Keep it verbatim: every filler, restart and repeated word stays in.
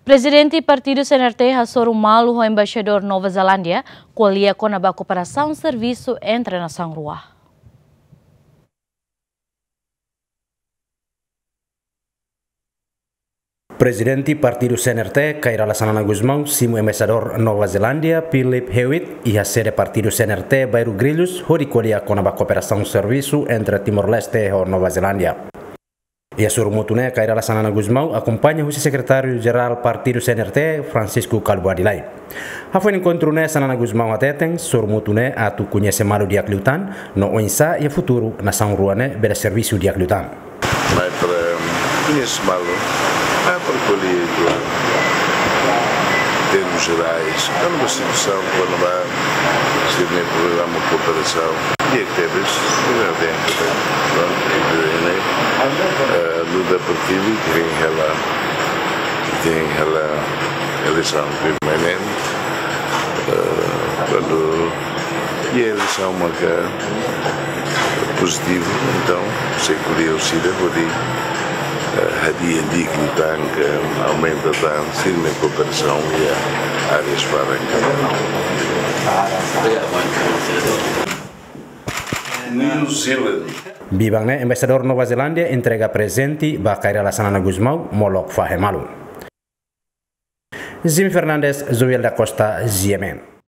Prezidente Partidu C N R T hasoru malu ho Embaixadór Nova Zelándia, ko'alia kona-ba kooperasaun servisu entre nasaun rua. Prezidente Partidu C N R T, Kay Rala Xanana Gusmão, simu Embaixadór Nova Zelándia, Philip Hewitt, iha sede Partidu C N R T, Bairru Grilhos, hodi ko'alia kona-ba kooperasaun servisu entre Timor-Leste ho Nova Zelándia. Iha sorumutu ne'e, Kay Rala Xanana Gusmão akompaña husi Sekretáriu Jerál Partidu C N R T, Francisco Kalbuadi Lay. Hafoin enkontru ne'e, Xanana Gusmão hateten, sorumutu ne'e atu koñese malu di'ak liután, no oinsá iha futuru nasaun rua ne'e bele servisu di'ak liután. Mai para koñese malu, mai para ko'alia, termos jerais, kona-ba situasaun, kona-ba sira-nia programa kooperasaun. Di'ak tebes, di'ak tebes, pronto, eh, luta partidu, que vem hela, que vem hela eleisaun permanente, eh, kuandu iha eleisaun maka pozitivu, entaun, sei ko'alia ho sira hodi, eh, hadi'a di'ak liután, aumenta tan sira-nia kooperasaun iha áreas barak. New Zealand. Biban ne'e, Embaixadór Nova Zelándia entrega prezente ba Kay Rala Xanana Gusmão, molok fahe malu. Jimmy Fernandes, Joel da Costa, G M N.